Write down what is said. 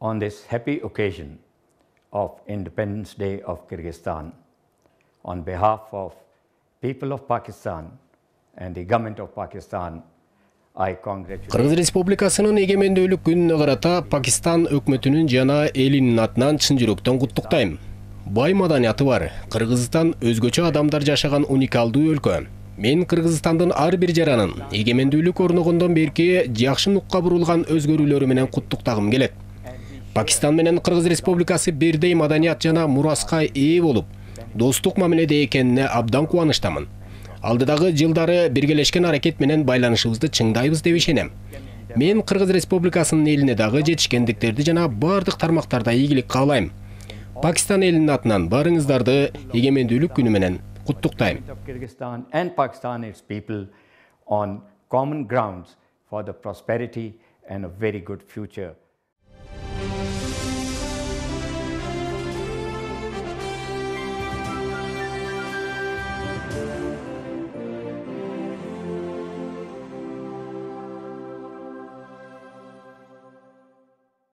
On this happy occasion of Independence Day of Kyrgyzstan, on behalf of people of Pakistan and the government of Pakistan, I congratulate. Кыргыз Республикасынын эгемендүүлүк күнүнө карата Пакистан өкмөтүнүн жана элинин атынан чын жүрөктөн куттуктайм. Бай маданияты бар, Кыргызстан өзгөчө адамдар жашаган уникалдуу өлкө. Мен Кыргызстандын ар бир жаранын эгемендүүлүк орногондон берки жакшы нукка бурулган өзгөрүүлөрү менен куттуктагым келет. Пакистан менен Кыргыз Республикасы бирдей маданият жана мураска ээ болуп, достук мамиледе экенине абдан кубанычтамын. Алдыдагы жылдары биргелешкен аракет менен байланышыбызды чыңдайбыз деп ишенем. Мен Кыргыз Республикасынын элине дагы жетишкендиктерди жана бардык тармактарда ийгилик каалайм. Пакистан элинин атынан барыңыздарды эгемендүүлүк күнү менен куттуктайм. Kyrgyzstan and Pakistan its people on common grounds for the prosperity and a very good future